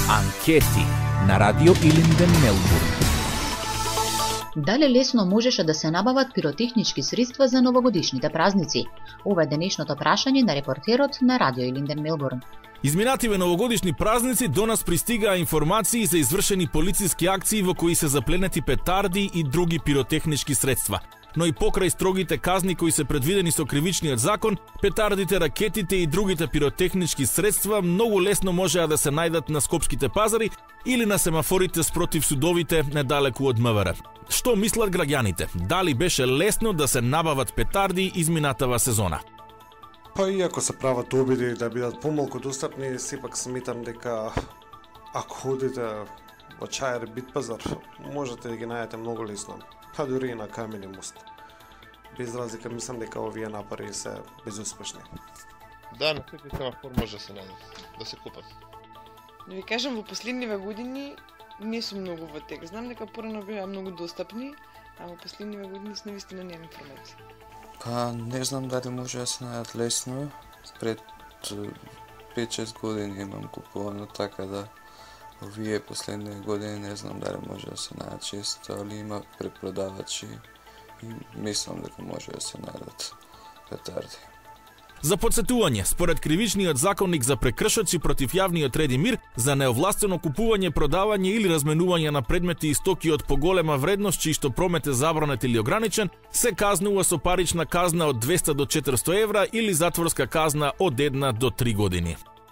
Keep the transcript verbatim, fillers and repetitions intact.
Анкети на Радио Илинден, Мелбурн. Дали лесно можеше да се набават пиротехнички средства за новогодишните празници? Ова е денешното прашање на репортерот на Радио Илинден, Мелбурн. Изминативе новогодишни празници до нас пристигаа информации за извршени полициски акции во кои се запленети петарди и други пиротехнички средства. Но и покрај строгите казни кои се предвидени со кривичниот закон, петардите, ракетите и другите пиротехнички средства многу лесно можеа да се најдат на скопските пазари или на семафорите спротив судовите недалеку од МВР. Што мислат граѓаните? Дали беше лесно да се набават петарди изминатава сезона? Па иако се прават обиди да бидат помалку достапни, сепак сметам дека ако ходите во Чајер Битпазар, можете да ги најдете многу лесно. Па дури и на Камени мост. Без разлика, мислам дека овие напори се безуспешни. Да, на секој семафор може да се најдат, да се купат. Да ви кажам, во последниве години не сум многу во тек. Знам дека порано беа многу достапни, а во последниве години с навистина немам информација. Па не знам дали може да се најдат лесно. Пред пет-шест години имам купувано, така да овие последни години не знам дали може да се најдат често, али има препродавачи и мислам дека може да се најдат петарди. За подсетување, според кривичниот законник за прекршоци против јавниот ред и мир, за неовластено купување, продавање или разменување на предмети и стоки од поголема вредност, чиј што промет е забранет или ограничен, се казнува со парична казна од двесте до четиристо евра или затворска казна од една до три години.